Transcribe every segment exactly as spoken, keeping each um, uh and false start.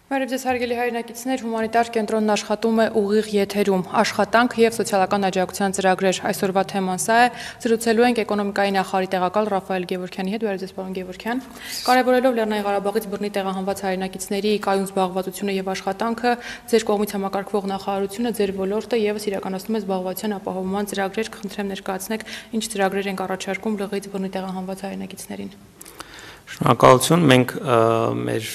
Բարև ձեզ հարգելի հայրենակիցներ, հումանիտար կենտրոնն աշխատում է ուղիղ եթերում, աշխատանք և սոցիալական աջակցության ծրագրեր, այսօրվա թեման սա է, զրուցելու ենք էկոնոմիկայի նախարարի տեղակալ Ռաֆայել Գևորգյանի հետ, բարև ձեզ պարոն Գևորգյան, կարևորելով Լեռնային Ղարաբաղից բռնի տեղահանված հայրենակիցների կայուն զբաղվածությունը և աշխատանքը, ձեր կողմից համակարգվող նախարարությունը, ձեր ոլորտը ևս իրականացնում է զբաղվածության ապահովման ծրագրեր, կխնդրեմ ներկայացնեք, ինչ ծրագրեր ենք առաջարկում լղից բռնի տեղահանված հայրենակիցներին։ Շնորհակալություն, մենք մեր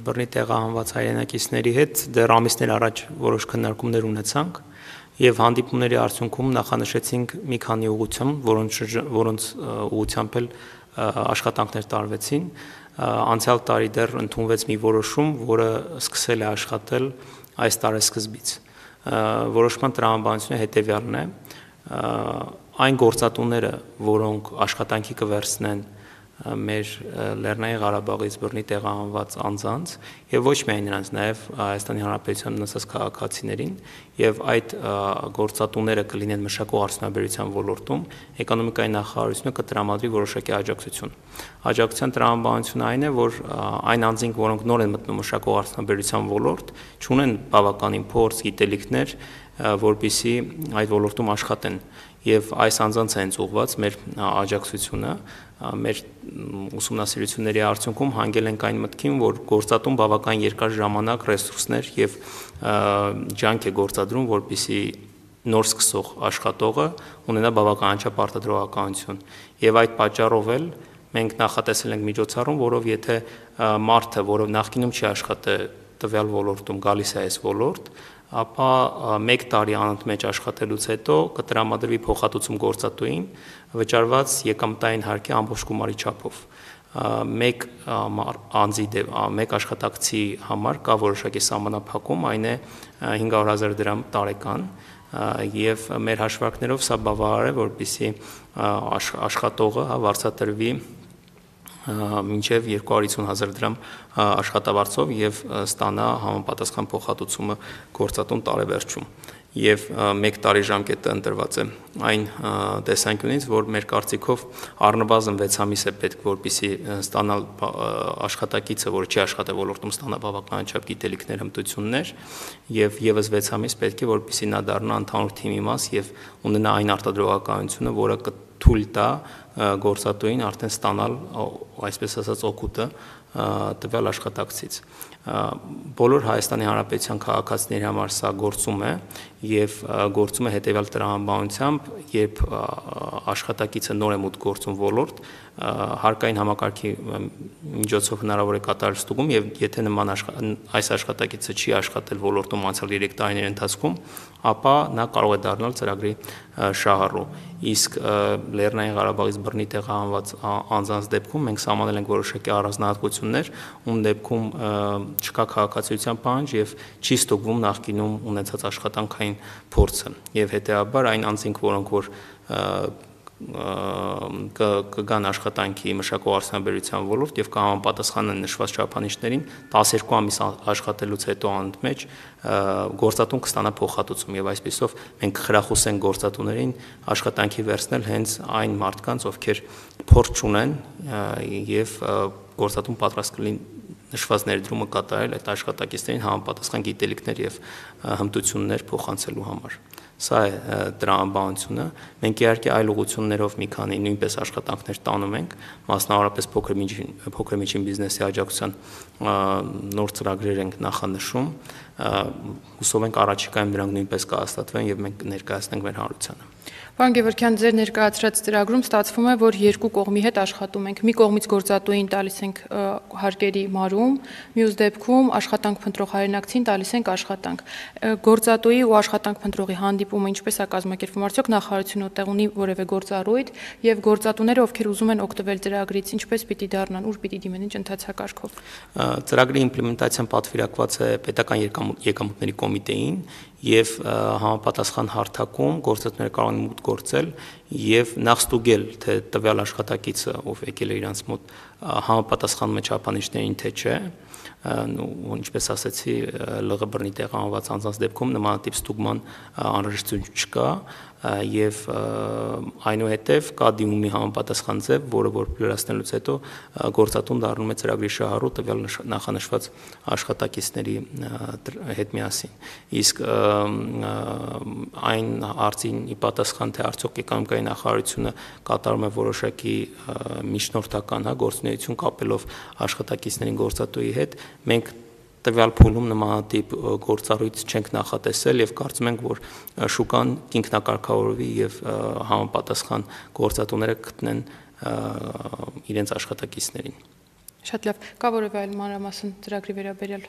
բռնի տեղահանված հայրենակիցների հետ դեռ ամիսներ առաջ որոշ քննարկումներ ունեցանք եւ հանդիպումների արդյունքում նախանշեցինք մի քանի ուղղություն, որոնց որոնց ուղղությամբ էլ աշխատանքներ տարվեցին։ Անցյալ տարի դեռ ընդունվեց մի որոշում, որը սկսել է աշխատել այս տարեսկզբից։ Որոշման տրամաբանությունը հետեւյալն է. այն գործատուները, որոնք աշխատանքի կվերցնեն մեր Լեռնային Ղարաբաղից բռնի տեղահանված անձանց եւ ոչ միայն նրանց, նաեւ Հայաստանի Հանրապետության մնացած քաղաքացիներին եւ այդ գործատուները կլինեն մշակող արդյունաբերության ոլորտում, էկոնոմիկայի նախարարությունը կտրամադրի որոշակի աջակցություն։ Աջակցության տրամաբանությունը այն է, որ այն անձինք, որոնք նոր են մտնում մշակող արդյունաբերության ոլորտ, չունեն բավականին փորձ, գիտելիքներ, որպեսզի այդ ոլորտում աշխատեն եւ այս անձանց է հենց ուղղված մեր աջակցությունը, մեր ուսումնասիրությունների արդյունքում հանգել ենք այն մտքին, որ գործատուն բավական երկար ժամանակ ռեսուրսներ եւ ջանք է գործադրում, որպեսզի նոր սկսող աշխատողը ունենա բավականաչափ արտադրողականություն եւ այդ պատճառով էլ մենք նախատեսել ենք միջոցառում, որով եթե մարդը, որը նախկինում չի աշխատել տվյալ ոլորտում, գալիս է այս ոլորտ, ապա մեկ տարի անընդմեջ աշխատելուց հետո կտրամադրվի փոխհատուցում գործատուին վճարված եկամտային հարկի ամբողջ գումարի չափով։ Մեկ անձի մեկ աշխատակցի համար կա որոշակի սահմանափակում, այն է հինգ հարյուր հազար դրամ տարեկան եւ մեր հաշվարկներով սա բավարար է, որպեսզի աշխատողը վարձատրվի մինչև երկու հարյուր հիսուն հազար դրամ աշխատավարձով եւ ստանա համապատասխան փոխհատուցումը գործատուն տարեվերջում եւ մեկ տարի ժամկետը ընտրված է այն տեսանկյունից, որ մեր կարծիքով առնվազն վեց ամիս է պետք, որպեսզի ստանալ աշխատակիցը, որը չի աշխատել ոլորտում, ստանա բավականաչափ գիտելիքներ, հմտություններ եւ եւս վեց ամիս պետք է, որպեսզի նա դառնա ընդհանուր թիմի մաս եւ ունենա այն արտադրողականությունը, որը թույլ տա գործատուին արդեն ստանալ, այսպես ասած, օգուտը տվյալ աշխատակցից։ Բոլոր Հայաստանի Հանրապետության քաղաքացիների համար սա գործում է եւ գործում է հետեւյալ տրամաբանությամբ, երբ աշխատակիցը նոր է մուտք գործում ոլորտ, հարկային համակարգի միջոցով հնարավոր է կատարել ստուգում եւ եթե նման այս աշխատակիցը չի աշխատել ոլորտում անցյալ երեք տարիների ընթացքում, ապա նա կարող է դառնալ ծրագրի շահառու։ Իսկ Լեռնային Ղարաբաղից բռնի տեղահանված անձանց դեպքում մենք սահմանել ենք որոշակի առանձնահատկություններ, ում դեպքում չկա քաղաքացիության պահանջ եւ չի ստուգվում նախկինում ունեցած աշխատանքային փորձը եւ հետեւաբար այն անձինք, որոնք որ կգան աշխատանքի մշակող արդյունաբերության ոլորտ եւ կհամապատասխանեն նշված չափանիշներին, տասներկու ամիս աշխատելուց հետո անընդմեջ գործատուն կստանա փոխհատուցում եւ այսպեսով մենք խրախուսենք գործատուներին աշխատանքի վերցնել հենց այն մարդկանց, ովքեր փորձ ունեն եւ գործատուն պատրաստ կլինի նշված ներդրումը կատարել այդ աշխատակիցներին համապատասխան գիտելիքներ եւ հմտություններ փոխանցելու համար։ Սա է տրամաբանությունը։ Մենք իհարկե այլ ուղղություններով մի քանի նույնպես աշխատանքներ տանում ենք, մասնավորապես փոքր միջին փոքր միջին բիզնեսի աջակցության նոր ծրագրեր ենք նախանշում։ Հուսով ենք առաջիկայում դրանք նույնպես կհաստատվեն եւ մենք կներկայացնենք մեր հանրությանը։ Պարոն Գևորգյան, ձեր ներկայացրած ծրագրում ստացվում է, որ երկու կողմի հետ աշխատում ենք։ Մի կողմից գործատուին տալիս ենք հարկերի մարում, մյուս դեպքում աշխատանք փնտրող հայրենակցին տալիս ենք աշխատանք։ Գործատուի ու աշխատանք փնտրողի հանդիպումը ինչպես է կազմակերպվում, արդյոք նախարարությունը տեղ ունի որևէ գործառույթ եւ գործատուները, ովքեր ուզում են օգտվել ծրագրից, ինչպես պիտի դառնան, ուր պիտի դիմեն, ինչ ընթացակարգով։ Ծրագրի իմպլեմենտացիան պատվիրակված է պետական եկամուտների կոմիտեին եւ համապատասխան հարթակում գործատուները կարող են մուտք գործել եւ նախ ստուգել, թե տվյալ աշխատակիցը, ով եկել է իրանց մոտ, համապատասխանում է չափանիշներին, թե չէ, ու ինչպես ասացի, ԼՂ բռնի տեղահանված անձանց դեպքում նմանատիպ ստուգման անհրաժեշտություն չկա, եւ այնուհետեւ կա դիմումի համապատասխան ձև, որը որ լրացնելուց հետո գործատուն դառնում է ծրագրի շահառու տվյալ նախանշված աշխատակիցների հետ միասին։ Իսկ այն հարցին ի պատասխան, թե արդյոք էկոնոմիկայի նախարարությունը կատարում է որոշակի միջնորդական գործունեություն կապելով աշխատակիցներին գործատուի հետ, մենք տվյալ փուլում նմանատիպ գործառույթ չենք նախատեսել եւ կարծում ենք, որ շուկան ինքնակարգավորվի եւ համապատասխան գործատուները գտնեն իրենց աշխատակիցներին։ Շատ լավ, կա որևէ այլ մանրամասն ծրագրի վերաբերյալ։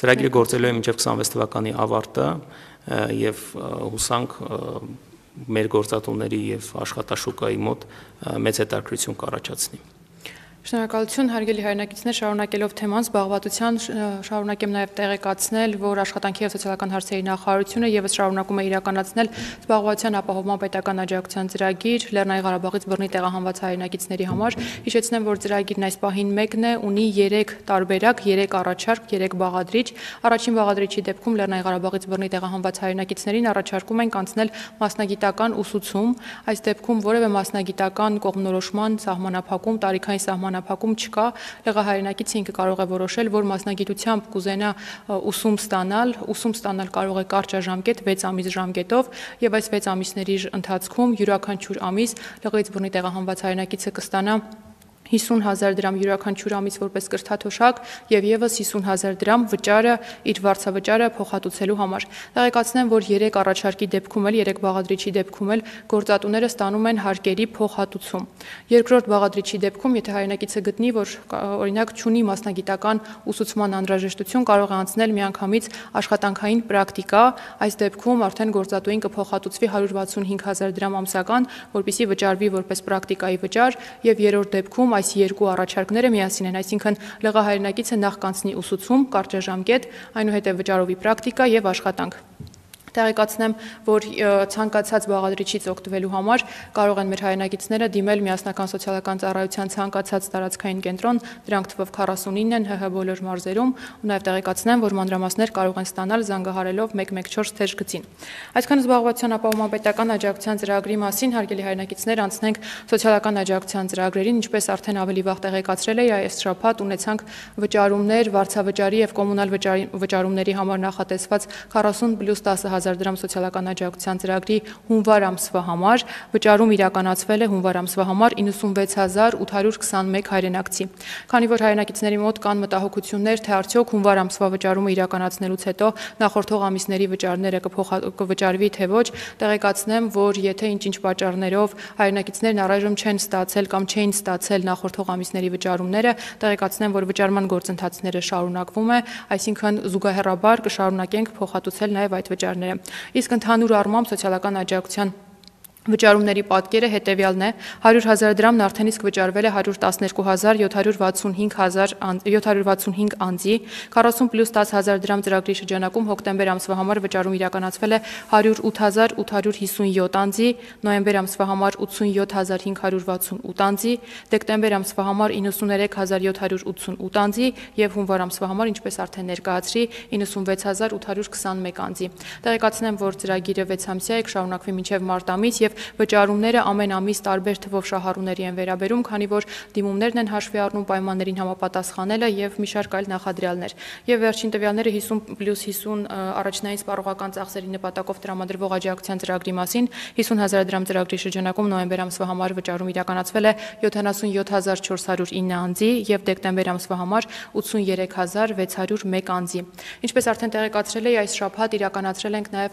Ծրագիրը գործելու է մինչև քսանվեց թվականի ավարտը եւ հուսանք մեր գործատուների եւ աշխատաշուկայի մոտ մեծ հետաքրքրություն կառաջացնի։ Շնորհակալություն, հարգելի հայրենակիցներ, շարունակելով թեման զբաղվածության, շարունակեմ նաև տեղեկացնել, որ աշխատանքի և սոցիալական հարցերի նախարարությունը ևս շարունակում է իրականացնել զբաղվածության ապահովման պետական աջակցության ծրագիր Լեռնային Ղարաբաղից բռնի տեղահանված հայրենակիցների համար։ Հիշեցնեմ, որ ծրագիրն այս պահին մեկն է, ունի երեք տարբերակ, երեք առաջարկ, երեք բաղադրիչ։ Առաջին բաղադրիչի դեպքում Լեռնային Ղարաբաղից բռնի տեղահանված հայրենակիցներին առաջարկում ենք անցնել մասնագիտական ուսուցում։ Այս դեպքում որևէ մասնագիտական կողմնորոշման սահմանափակում, տարիքային սահմանափակում Անապակում չկա, եղահայրենակիցը ինքը կարող է որոշել, որ մասնագիտությամբ կուզենա ուսում ստանալ, ուսում ստանալ կարող է կարճաժամկետ վեց ամիս ժամկետով եւ այս վեց ամիսների ընթացքում յուրաքանչյուր ամիս լղից բռնի տեղահանված հայրենակիցը կստանա հիսուն հազար դրամ յուրաքանչյուր ամիս որպես կրթաթոշակ եւ եւս հիսուն հազար դրամ վճարը իր վարձավճարը փոխհատուցելու համար։ Տեղեկացնեմ, որ երեք առաջարկի դեպքում էլ, երեք բաղադրիչի դեպքում էլ գործատուները ստանում են հարկերի փոխհատուցում։ Երկրորդ բաղադրիչի դեպքում, եթե հայրենակիցը գտնի, որ օրինակ չունի մասնագիտական ուսուցման անհրաժեշտություն, կարող է անցնել միանգամից աշխատանքային պրակտիկա, այս դեպքում արդեն գործատուին կփոխհատուցվի հարյուր վաթսունհինգ հազար դրամ ամսական, որպեսզի վճարվի որպես պրակտիկայի վճար, եւ երրորդ դեպքում այս երկու առաջարկները միասին են, այսինքն լղահայրենակիցը նախ կանցնի ուսուցում, կարճաժամկետ, այնուհետև վճարովի պրակտիկա եւ աշխատանք։ Տեղեկացնեմ, որ ցանկացած բաղադրիչից օգտվելու համար կարող են մեր հայրենակիցները դիմել միասնական սոցիալական ծառայության ցանկացած տարածքային կենտրոն, դրանք թվով քառասունինն են ՀՀ բոլոր մարզերում, ու նաև տեղեկացնեմ, որ մանրամասներ կարող են ստանալ զանգահարելով մեկ մեկ չորս թեժ գծին։ Այսքան զբաղվածության ապահովման պետական աջակցության ծրագրի մասին, հարգելի հայրենակիցներ, անցնենք սոցիալական աջակցության ծրագրերին, ինչպես արդեն ավելի վաղ տեղեկացրել էի, այս շաբաթ ունեցանք վճարումներ, վարձավճարի եւ կոմունալ վճարումների համար նախատեսված քառասուն պլյուս տասը հազար դրամ սոցիալական աջակցության ծրագրի հունվար ամսվա համար, վճարում իրականացվել է հունվար ամսվա համար իննսունվեց հազար ութ հարյուր քսանմեկ հայրենակցի։ Քանի որ հայրենակիցների մոտ կան մտահոգություններ, թե արդյոք հունվար ամսվա վճարումը իրականացնելուց հետո նախորդող ամիսների վճարները կվճարվի թե ոչ, տեղեկացնեմ, որ եթե ինչ-ինչ պատճառներով հայրենակիցներն առայժմ չեն ստացել կամ չէին ստացել նախորդող ամիսների վճարումները, տեղեկացնեմ, որ վճարման գործընթացները շարունակվում է, այսինքն զուգահեռաբար կշարունակենք փոխհատուցել նաև այդ վճարները։ Իսկ ընդհանուր առմամբ սոցիալական աջակցության վճարումների պատկերը հետևյալն է, հարյուր հազար դրամն արդեն իսկ վճարվել է հարյուր տասներկու հազար յոթ հարյուր վաթսունհինգ անձի, քառասուն պլյուս տասը հազար դրամ ծրագրի շրջանակում հոկտեմբեր ամսվա համար վճարում իրականացվել է հարյուր ութ հազար ութ հարյուր հիսունյոթ անձի, նոյեմբեր ամսվա համար ութսունյոթ հազար հինգ հարյուր վաթսունութ անձի, դեկտեմբեր ամսվա համար իննսուներեք հազար յոթ հարյուր ութսունութ անձի եւ հունվար ամսվա համար, ինչպես արդեն ներկայացրի, իննսունվեց հազար ութ հարյուր քսանմեկ անձի։ Տեղեկացնեմ, որ ծրագիրը վեց ամսյա է, կշարունակվի մինչեւ մարտ ամիս եւ վճարումները ամեն ամիս տարբեր թվով շահառուների են վերաբերում, քանի որ դիմումներն են հաշվի առնում պայմաններին համապատասխանելը եւ մի շարք այլ նախադրյալներ։ Եվ վերջին տվյալները հիսուն պլյուս հիսուն առաջնային սպառողական ծախսերի նպատակով տրամադրվող աջակցության ծրագրի մասին, հիսուն հազար դրամ ծրագրի շրջանակում նոյեմբեր ամսվա համար վճարում իրականացվել է յոթանասունյոթ հազար չորս հարյուր ինը անձի եւ դեկտեմբեր ամսվա համար ութսունյերեք հազար վեց հարյուր մեկ անձի։ Ինչպես արդեն տեղեկացրել էի, այս շաբաթ իրականացրել ենք նաեւ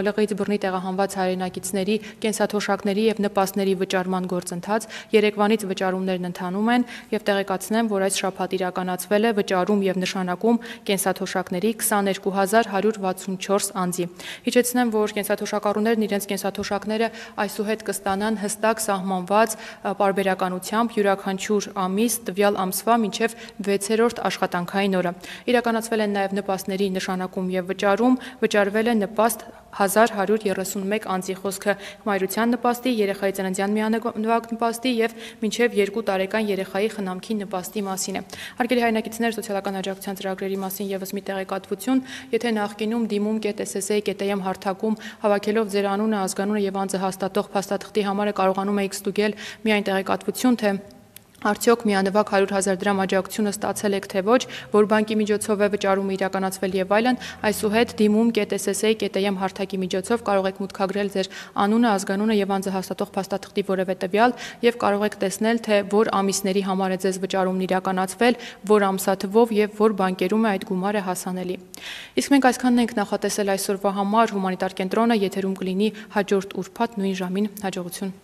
լղից բռնի տեղահանված հայրենակիցների կենսաթոշակների եւ նպաստների վճարման գործընթաց, երեկվանից վճարումներն ընթանում են եւ տեղեկացնեմ, որ այս շաբաթ իրականացվել է վճարում եւ նշանակում կենսաթոշակների քսաներկու հազար հարյուր վաթսունչորս անձի։ Հիշեցնեմ, որ կենսաթոշակառուներն իրենց կենսաթոշակները այսուհետ կստանան հստակ սահմանված պարբերականությամբ յուրաքանչյուր ամիս տվյալ ամսվա մինչեւ վեցերորդ աշխատանքային օրը։ Իրականացվել են նաեւ նպաստների նշանակում եւ վճարում, վճարվել է նպաստ հազար հարյուր երեսունմեկ անձի, խոսքը մայրության նպաստի, երեխայի ծննդյան միանվագ նպաստի եւ մինչեւ երկու տարեկան երեխայի խնամքի նպաստի մասին է։ Հարգելի հայրենակիցներ, սոցիալական աջակցության ծրագրերի մասին եւս մի տեղեկատվություն, եթե նախկինում դիմում.ss.am հարթակում հավաքելով ձեր անունը, ազգանունը եւ անձը հաստատող փաստաթղթի համար կարողանում եք ստուգել միայն տեղեկատվություն, թե արդյոք միանվագ հարյուր հազար դրամ աջակցությունը ստացել եք թե ոչ, որ բանկի միջոցով է վճարումը իրականացվել եւ այլն, այսուհետ դիմում.ss.am հարթակի միջոցով կարող եք մուտքագրել ձեր անունը, ազգանունը եւ անձը հաստատող փաստաթղթի որևէ տվյալ եւ կարող եք տեսնել, թե որ ամիսների համար է ձեզ վճարումն իրականացվել, որ ամսաթվով եւ որ բանկերում է այդ գումարը հասանելի։ Իսկ մենք այսքանն ենք նախատեսել այսօրվա համար, հումանիտար կենտրոնը եթերում կլինի հաջորդ ուրբաթ նույն ժամին, հաջողություն։